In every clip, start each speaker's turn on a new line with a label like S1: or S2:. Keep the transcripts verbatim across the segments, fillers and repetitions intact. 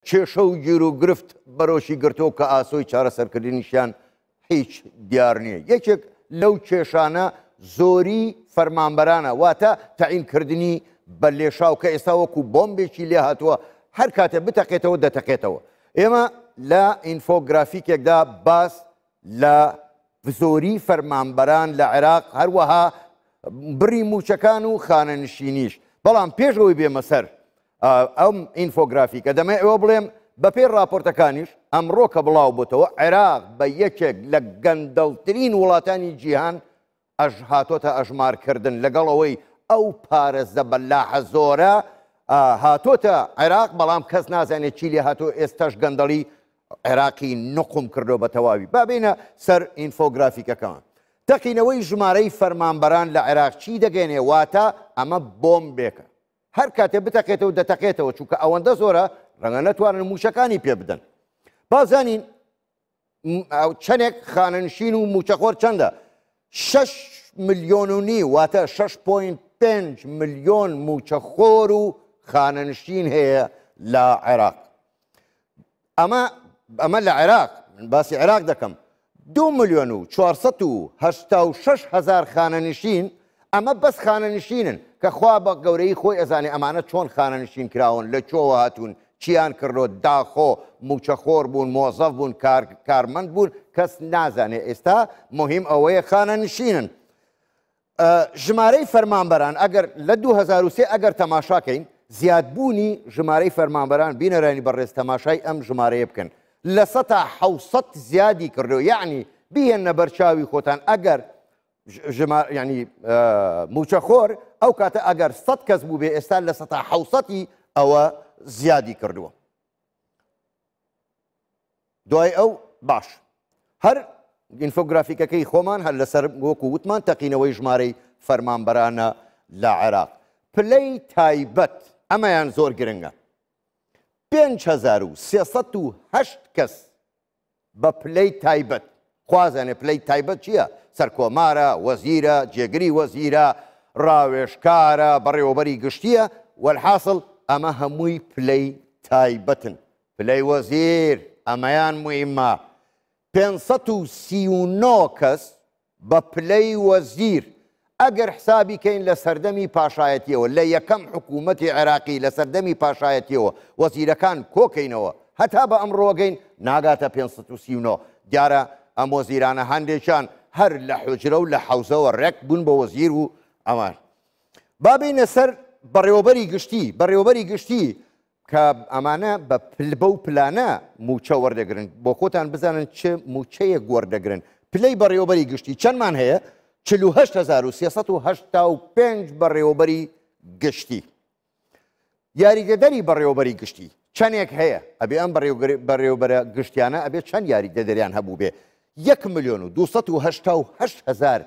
S1: کێشە و گیروگرفت بەرۆکی گرتووە کە ئاسۆی چارەسەرکردنیشیان هیچ دیار نییە. یەکێک لەو کێشانە زۆری فەرمانبەرانە، واتە تەعینکردنی بە لێشاو کە ئێستا وەکو بۆمبێکی لێ هاتووە، هەر کاتێ بتەقێتەوە دەتەقێتەوە. ئێمە لە ئینفۆگرافیکێکدا باس لە زۆری فەرمانبەران لە عێراق، هەروەها بڕی موچەکان و خانەنشینیش. بەڵام پێش ئەوەی بێمە سەر ئەم ئینفۆگرافیکە، دەمێ ئەوە بڵێم بەپێی راپۆرتەکانیش ئەمڕۆ کە بڵاو بۆتەوە، عێراق بە یەکێک لە گەندەڵترین وڵاتانی جیهان ئەژ هاتۆتە ئەژمارکردن، لەگەڵ ئەوەی ئەو پارە زەبەلاحە زۆرە هاتۆتە عێراق، بەڵام کەس نازانێت چی لێ هاتۆ. ئێستاش گەندەڵی عێراقی نقم کردو بە تەواوی. با بینە سەر ئینفۆگرافیکەکان. تەقینەوەی ژمارەی فەرمانبەران لە عێراق چی دەگەێنێ؟ واتە ئەمە بۆمبێکە، هەر کاتێ بتەقێتەوە دەتەقێتەوە، چونکە ئەوەندە زۆرە ڕەنگە نەتوانن موچەکانی پێ بدەن. بازانین چەندێک خانەنشین و موچەخۆر چەندە؟ شەش ملیۆن و نیو، واتە شەش پۆینت پێنج ملیۆن موچەخۆر و خانەنشین هەیە لە عێراق. ئەمە ئەمە لە عێراق، من باسی عێراق دەکەم. دوو ملیۆن و چوارسەد و هەشتا و شەش هەزار خانەنشین، ئەمە بەس خانەنشینن کە خوا بە گەورەی خۆی ئەزانێ ئەمانە چۆن خانەنشین کراون، لە کوێوە هاتوون، چیان کردۆ، داخۆ موچەخۆر بوون، مۆزەف بوون، کارمەند بوون، کەس نازانێ. ئێستا مهم ئەوەیە خانەنشینن. ژمارەی فەرمانبەران ئەگەر لە دوو هەزار و سێ ئەگەر تەماشاکەین، زیادبوونی ژمارەی فەرمانبەران، بینەرانی بەڕێز تەماشای ئەم ژمارەیە بکەن، لە سەتا حەوسەد زیادی کردو. یعنی بیهێنە بەرچاوی خۆتان ئەگەر ینی موچەخۆر ئەو کاتە ئەگەر سەد کەس بوو بێ، ئێستا لە سەتا حەوسەتی ئەوە زیادی کردووە. دوای ئەو باش هەر ئینفۆگرافیکەکەی خۆمان هەر لەسەر وەکو وتمان تەقینەوەی ژمارەی فەرمانبەرانە لە عێراق. پلەی تایبەت ئەمەیان زۆر گرنگە، پێنج هەزار و سێسەد و هەشت کەس بە پلەی تایبەت. خوازانێ پلەی تایبەت چییە؟ سەرکۆمارە، وەزیرە، جێگری وەزیرە، ڕاوێژکارە، بەڕێوەبەری گشتیە. وەلحاصل ئەمە هەمووی پلەی تایبەتن. پلەی وەزیر ئەمەیان مهمە، پێنجسەد و سی و نۆ کەس بە پلەی وەزیر. ئەگەر حسابی کەین لە سەردەمی پاشایەتیەوە، لە یەکەم حکوومەتی عێراقی لە سەردەمی پاشایەتیەوە وەزیرەکان کۆکەینەوە هەتا بە ئەمڕۆگەین ناگاتە پێنجسەد و سی و نۆ. دیارە ئەم وەزیرانە هەندێکیان هەر لە حوجرە و لە حەوزەوە ڕێک بوون بە وەزیر و ئەمان. با بینە سەر بەڕێوەبەری گشتی. بەڕێوەبەری گشتی کە ئەمانە بە بەو پلانە موچە وەردەگرن، بۆ خۆتان بزانن چه موچەیەک وەردەگرن. پلەی بەڕێوەبەری گشتی چەندمان هەیە؟ چل و هەشت هەزار و سێسەد و هەشتا و پێنج بەڕێوەبەری گشتی. یاریدەدەری بەڕێوەبەری گشتی چەندێک هەیە؟ ئەبێ ئەم بەڕێوەبەرە گشتیانە ئەبێ چەند یاریدەدەریان هەبوو بێ؟ یەک ملیۆن و دووسەد و هەشتا و هەشت هەزار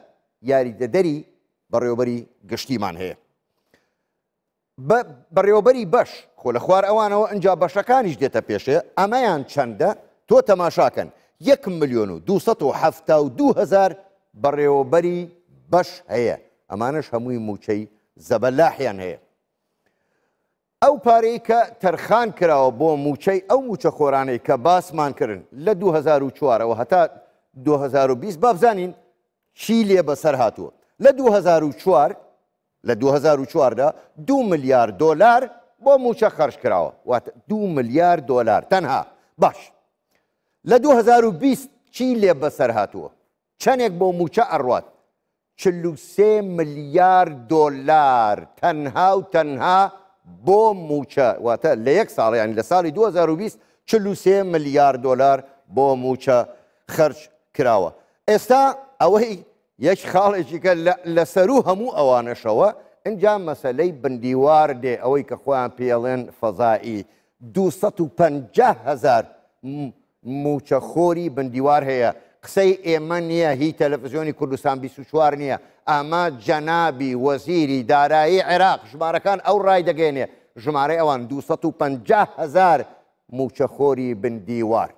S1: یاریدەدەری بەڕێوەبەری گشتیمان هەیە. بەڕێوەبەری بەش خۆ لە خوار ئەوانەوە ئەنجا بەشەکانیش دێتە پێشێ، ئەمەیان چەندە؟ تۆ تەماشاکەن یەک ملیۆن و دووسەد و حەفتا و دوو هەزار بەڕێوەبەری بەش هەیە. ئەمانەش هەمووی موچەی زەبەلاحیان هەیە. ئەو پارەی کە تەرخان کراوە بۆ موچەی ئەو موچەخۆرانەی کە باسمان کردن لە دوو هەزار و چوارەوە هەتا دوو هەزار و بیست، با بزانین چی لێ بەسەر هاتووە. لە دوو هەزار و چوار لە دوو هەزار و چواردا دوو ملیار دۆلار بۆ موچە خەرج کراوە، واتە دوو ملیار دۆلار تەنها. باش لە دوو هەزار و بیست چی لێ بەسەر هاتووە؟ چەندێک بۆ موچە ئەڕوات؟ چل و سێ ملیار دۆلار تەنها و تەنها بۆ موچە، واتە لە یەک ساڵ، یعنی لە ساڵی دوو هەزار و بیست چل و سێ ملیار دۆلار بۆ موچە خەرج کراوە. ئێستا ئەوەی یەک خاڵێکی کە لە سەرو هەموو ئەوانەشەوە ئینجا مەسەلەی بندیوار دێ، ئەوەی کە خۆیان پێڵێن فەزایی. دووسەد و پەنجا هەزار موچەخۆری بندیوار هەیە. قسەی ئێمە نییە، هی تەلەڤیزیۆنی کوردستان بیست و چوار نییە، ئەمە جەنابی وەزیری دارایی عێراق ژمارەکان ئەو ڕای دەگەێنێ، ژمارەی ئەوان دووسەد و پەنجا هەزار موچەخۆری بندیوار.